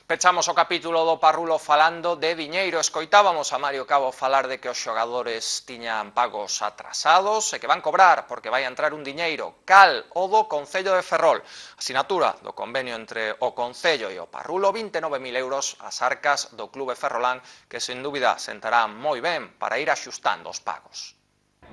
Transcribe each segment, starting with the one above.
Pechamos o capítulo do Parrulo falando de diñeiro. Escoitábamos a Mario Cabo falar de que os xogadores tiñan pagos atrasados e que van cobrar porque vai entrar un diñeiro. Cal o do Concello de Ferrol. Asinatura do convenio entre o Concello e o Parrulo, 29.000 euros ás arcas do Clube Ferrolán, que sen dúbida sentará moi ben para ir axustando os pagos.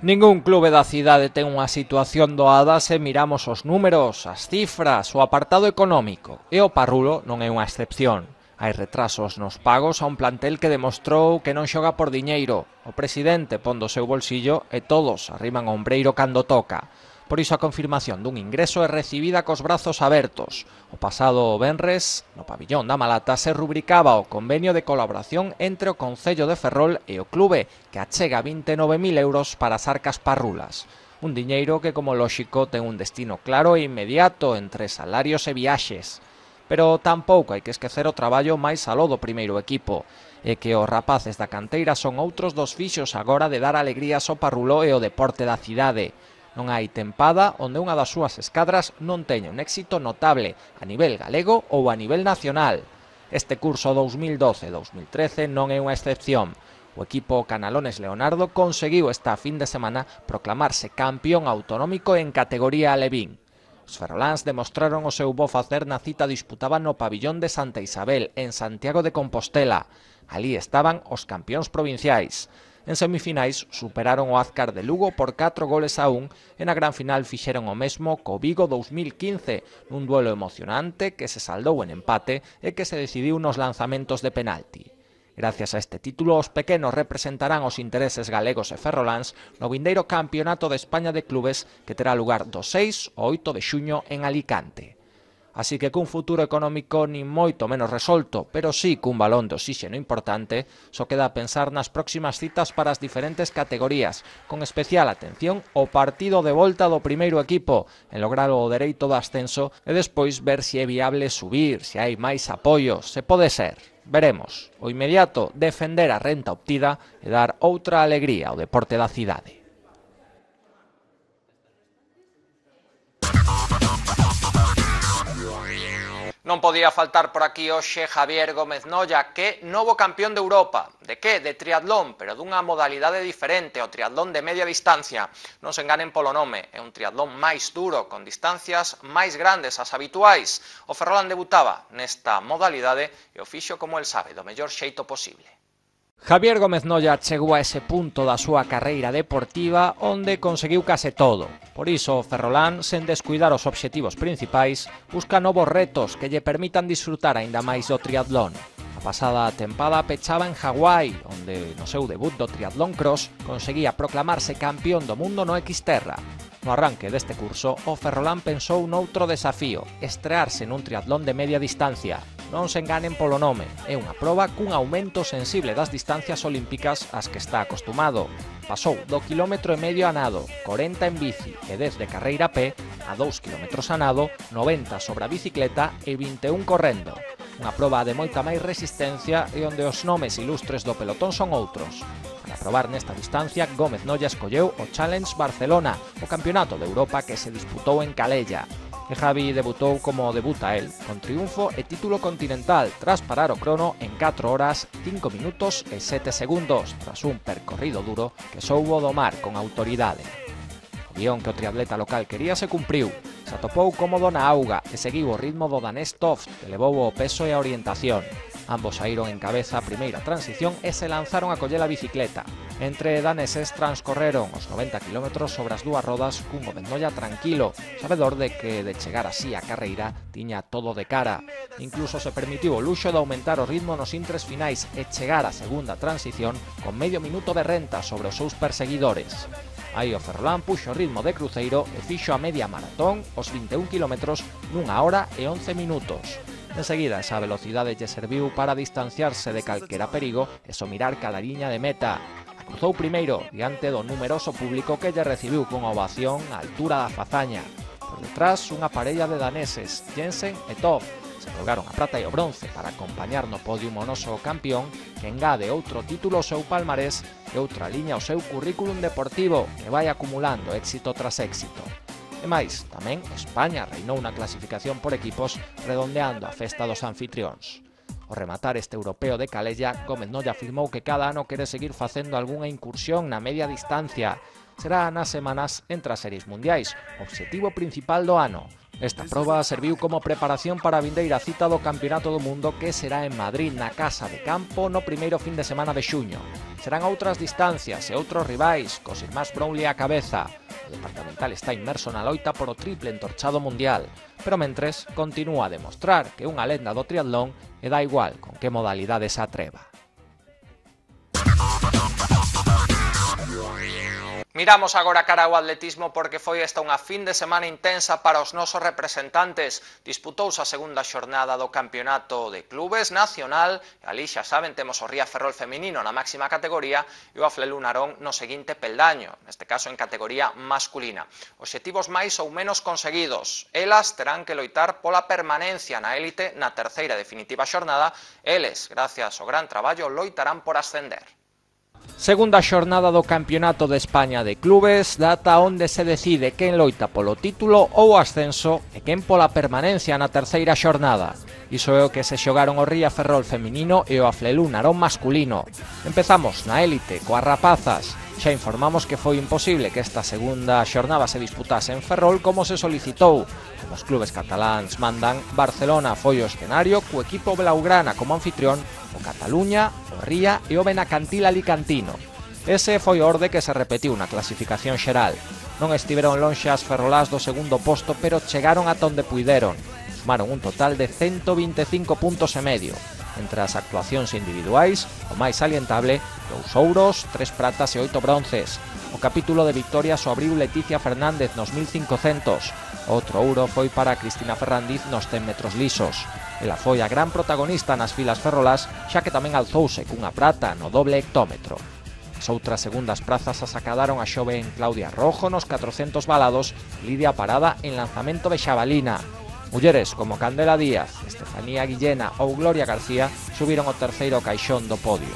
Ningún clube da cidade ten unha situación doada se miramos os números, as cifras, o apartado económico, e o Parrulo non é unha excepción. Hai retrasos nos pagos a un plantel que demostrou que non xoga por diñeiro. O presidente pon do seu bolsillo e todos arriman o ombreiro cando toca. Por iso a confirmación dun ingreso é recibida cos brazos abertos. O pasado venres, no pabillón da Malata, se rubricaba o convenio de colaboración entre o Concello de Ferrol e o clube, que achega 29.000 euros para as arcas parrulas. Un diñeiro que, como lóxico, ten un destino claro e inmediato entre salarios e viaxes. Pero tampouco hai que esquecer o traballo máis aló do primeiro equipo, e que os rapaces da canteira son outros dos fixos agora de dar alegrías ao Parrulo e ao deporte da cidade. Non hai tempada onde unha das súas escadras non teña un éxito notable a nivel galego ou a nivel nacional. Este curso 2012-2013 non é unha excepción. O equipo Canalones Leonardo conseguiu esta fin de semana proclamarse campeón autonómico en categoría alevín. Os ferroláns demostraron o seu bo facer na cita disputada no pabillón de Santa Isabel, en Santiago de Compostela. Alí estaban os campións provinciais. En semifinais superaron o Azcar de Lugo por 4-1 e na gran final fixeron o mesmo co Vigo 2015, nun duelo emocionante que se saldou en empate e que se decidiu nos lanzamentos de penalti. Gracias a este título, os pequenos representarán os intereses galegos e ferroláns no vindeiro Campeonato de España de Clubes que terá lugar do 6 ao 8 de xuño en Alicante. Así que cun futuro económico nin moito menos resolto, pero sí cun balón de oxíxeno importante, só queda pensar nas próximas citas para as diferentes categorías, con especial atención ao partido de volta do primeiro equipo, en lograr o dereito do ascenso e despois ver se é viable subir, se hai máis apoios, se pode ser. Veremos. O inmediato, defender a renta obtida e dar outra alegría ao deporte da cidade. Non podía faltar por aquí hoxe Javier Gómez Noya, que é novo campeón de Europa. De que? De triatlón, pero dunha modalidade diferente, o triatlón de media distancia. Non se enganen polo nome, é un triatlón máis duro, con distancias máis grandes as habituais. O Ferrolán debutaba nesta modalidade e o fixo como el sabe, do mellor xeito posible. Javier Gómez Noya chegou a ese punto da súa carreira deportiva onde conseguiu case todo. Por iso, o Ferrolán, sen descuidar os obxectivos principais, busca novos retos que lle permitan disfrutar aínda máis do triatlón. A pasada tempada pechaba en Hawái, onde no seu debut do triatlón cross conseguía proclamarse campeón do mundo no Xterra. No arranque deste curso, o Ferrolán pensou noutro desafío, estrearse nun triatlón de media distancia. Non se enganen polo nome, é unha proba cun aumento sensible das distancias olímpicas ás que está acostumado. Pasou do quilómetro e medio a nado, 40 en bici e 10 de carreira a pé, a 2 kilómetros a nado, 90 sobre a bicicleta e 21 correndo. Unha proba de moita máis resistencia e onde os nomes ilustres do pelotón son outros. Para probar nesta distancia, Gómez Noya escolleu o Challenge Barcelona, o campeonato de Europa que se disputou en Calella. E Javi debutou como debuta el, con triunfo e título continental, tras parar o crono en 4 horas, 5 minutos e 7 segundos, tras un percorrido duro que soubo domar con autoridade. O guión que o triatleta local quería se cumpriu, se atopou cómodo na auga e seguiu o ritmo do danés Toft, que levou o peso e a orientación. Ambos saíron en cabeza a primeira transición e se lanzaron a coller a bicicleta. Entre daneses transcorreron os 90 km sobre as dúas rodas cun Gómez Noya tranquilo, sabedor de que de chegar así a carreira tiña todo de cara. Incluso se permitiu o luxo de aumentar o ritmo nos intres finais e chegar á segunda transición con medio minuto de renta sobre os seus perseguidores. Aí o Ferrolán puxo o ritmo de cruceiro e fixo a media maratón os 21 km nunha hora e 11 minutos. Enseguida, esa velocidade lle serviu para distanciarse de calquera perigo e só mirar cada liña de meta. Cruzou primeiro diante do numeroso público que lle recibiu con ovación á altura da fazaña. Por detrás, unha parella de daneses, Jensen e Toff, se colgaron a prata e o bronce para acompañar no podio o noso campeón, que engade outro título ao seu palmarés e outra liña ao seu currículum deportivo, que vai acumulando éxito tras éxito. E máis, tamén España reinou na clasificación por equipos redondeando a festa dos anfitrións. Ao rematar este europeo de Calella, Gómez Noya afirmou que cada ano quere seguir facendo algunha incursión na media distancia. Será nas semanas entre as series mundiais, obxectivo principal do ano. Esta proba serviu como preparación para a vindeira cita do Campeonato do Mundo que será en Madrid, na Casa de Campo, no primeiro fin de semana de xuño. Serán outras distancias e outros rivais, cos irmáns Brownlee á cabeza. O departamental está inmerso na loita por o triple entorchado mundial, pero mentres continúa a demostrar que unha lenda do triatlón e dá igual con que modalidade se atreva. Miramos agora cara ao atletismo porque foi esta unha fin de semana intensa para os nosos representantes. Disputouse a segunda xornada do Campeonato de Clubes Nacional e ali xa saben temos o Ría Ferrol feminino na máxima categoría e o Aflelu Narón no seguinte peldaño, neste caso en categoría masculina. Obxectivos máis ou menos conseguidos. Elas terán que loitar pola permanencia na élite na terceira e definitiva xornada. Eles, gracias ao gran traballo, loitarán por ascender. Segunda xornada do Campeonato de España de Clubes, data onde se decide quen loita polo título ou ascenso e quen pola permanencia na terceira xornada. Iso é o que se xogaron o Ría Ferrol feminino e o Aflelu Narón masculino. Empezamos na élite coas rapazas. Xa informamos que foi imposible que esta segunda xornada se disputase en Ferrol como se solicitou. Como os clubes cataláns mandan, Barcelona foi o escenario co equipo blaugrana como anfitrión, o Cataluña, o Ría e o Benacantil alicantino. Ese foi o orde que se repetiu na clasificación xeral. Non estiveron lonxe as ferrolás do segundo posto, pero chegaron ata onde puideron. Sumaron un total de 125 puntos e medio. Entre as actuacións individuais, o máis salientable, 2 ouros, 3 pratas e 8 bronces. O capítulo de victorias o abriu Leticia Fernández nos 1500. Outro ouro foi para Cristina Ferrandiz nos 100 metros lisos. Ela foi a gran protagonista nas filas ferrolás, xa que tamén alzouse cunha prata no doble hectómetro. As outras segundas prazas as acadaron a xoven Claudia Rojo nos 400 balados, Lidia Parada en lanzamento de xabalina. Mulleres como Candela Díaz, Estefanía Guillena ou Gloria García subiron o terceiro caixón do podio.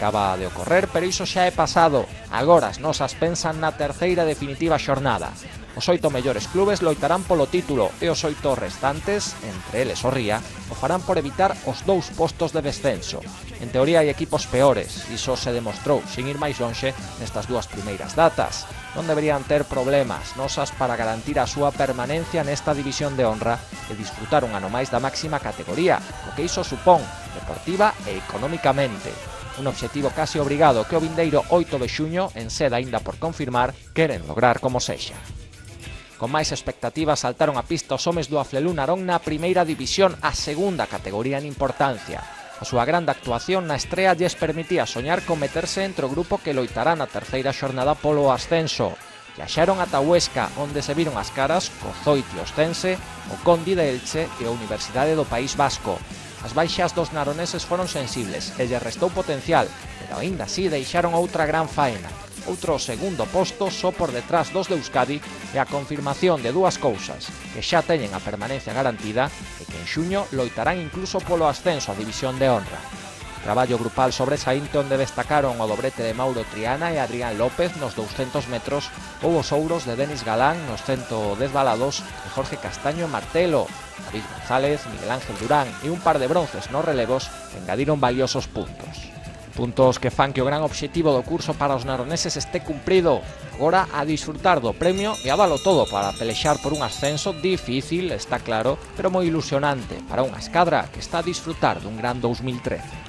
Acaba de ocorrer, pero iso xa é pasado. Agora as nosas pensan na terceira definitiva xornada. Os 8 mellores clubes loitarán polo título e os 8 restantes, entre eles o Ría, o farán por evitar os 2 postos de descenso. En teoría hai equipos peores, iso se demostrou, sin ir máis lonxe, nestas 2 primeiras datas. Non deberían ter problemas nosas para garantir a súa permanencia nesta división de honra e disfrutar un ano máis da máxima categoría, o que iso supón, deportiva e económicamente. Un obxectivo casi obrigado que o vindeiro 8 de xuño, en sede aínda por confirmar, queren lograr como sexa. Con máis expectativas saltaron a pista os homes do Aflelu Narón na primeira división, a segunda categoría en importancia. A súa grande actuación na estrea lles permitía soñar con meterse entre o grupo que loitará na terceira xornada polo ascenso. Viaxaron ata Huesca, onde se viron as caras co Zoiti Ostense, o Condi de Elche e a Universidade do País Vasco. As baixas dos naroneses foron sensibles e lles restou potencial, pero aínda así deixaron outra gran faena. Outro segundo posto só por detrás dos de Euskadi e a confirmación de dúas cousas, que xa teñen a permanencia garantida e que en xuño loitarán incluso polo ascenso a división de honra. Traballo grupal sobresaínte onde destacaron o dobrete de Mauro Triana e Adrián López nos 200 metros ou os ouros de Denis Galán nos 110 balados e Jorge Castaño en martelo. David González, Miguel Ángel Durán e un par de bronces nos relevos engadiron valiosos puntos. Puntos que fan que o gran obxectivo do curso para os naroneses este cumprido. Agora a disfrutar do premio e a dalo todo para pelexar por un ascenso difícil, está claro, pero moi ilusionante para unha escadra que está a disfrutar dun gran 2013.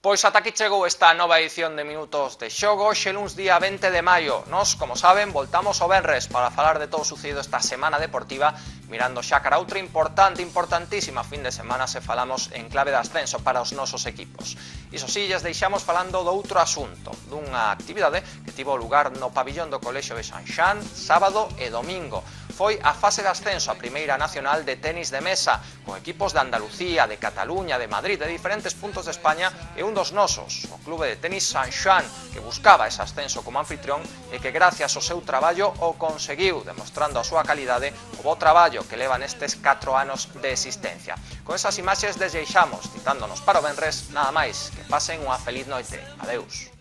Pois ata aquí chegou esta nova edición de Minutos de Xogo, xe luns día 20 de maio. Nos, como saben, voltamos o venres para falar de todo o sucedido esta semana deportiva, mirando xa cara a outra importantísima fin de semana se falamos en clave de ascenso para os nosos equipos. Iso sí, lles deixamos falando do outro asunto, dunha actividade que tivo lugar no pabillón do Colexio de Sanxán, sábado e domingo. Foi a fase de ascenso a Primeira Nacional de Tenis de Mesa, con equipos de Andalucía, de Cataluña, de Madrid, de diferentes puntos de España e un dos nosos, o Clube de Tenis Sanxán, que buscaba ese ascenso como anfitrión e que gracias ao seu traballo o conseguiu, demostrando a súa calidade, o bo traballo que leva nestes 4 anos de existencia. Con esas imaxes desexamos, citándonos para o venres, nada máis, que pasen unha feliz noite. Adeus.